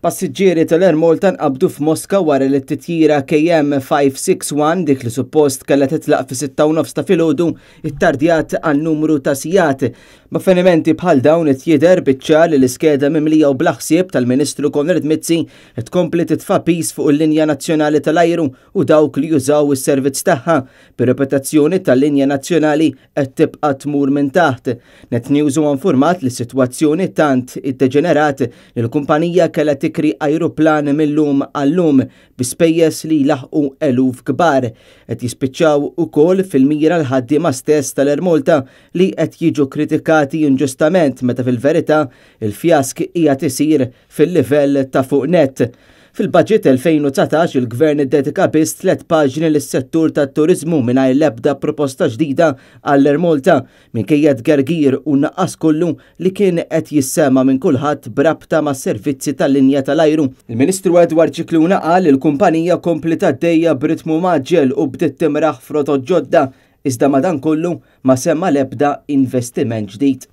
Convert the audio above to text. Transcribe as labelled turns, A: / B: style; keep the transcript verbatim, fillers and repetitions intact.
A: Passiġġieri tal-Air Malta nqabdu f'Moska wara li t-titjira K M five six one, dik li suppost kellha titlaq fi sitta u nofs ta' filgħodu, ittardjat għal numru ta' sigħat. B'avvenimenti bħal dawn qed jidher biċ-ċar li l-iskeda mimlija u bla ħsieb tal-Ministru Konrad Mizzi tkompli titfa' piż fuq il-linja nazzjonali tal-ajru u dawk li jużaw is-servizz tagħha. Bir-reputazzjoni tal-linja nazzjonali qed tibqa' tmur minn taħt. Net News huwa informat li s-sitwazzjoni tant iddeġenerat li l-kumpanija kellha tikri ajruplan mill-lum għall-lum bi spejjeż li laħqu eluf kbar. Qed jispiċċaw ukoll fil-mira l-ħaddiema stess tal-Air Malta, li qed jiġu kritikati inġustament meta fil-verità il-fjask qiegħed isir fil-livell ta' fuq net. Fil-budget elfejn u dsatax il-gvern iddedika biss tliet paġni lis-settur tat-turiżmu mingħajr l-ebda proposta ġdida għall-Air Malta, minkejja tgergir u naqqas kollu li kien qed jissema minn kulħadd b'rabta ma' servizzi tal-linja tal-ajru. Il-Ministru Edward Scicluna qal li l-kumpanija kompliet għaddejja b'ritmu mgħaġġel u bdiet timraħ f'rotot ġodda, iżda madankollu ma semma l-ebda investiment ġdid.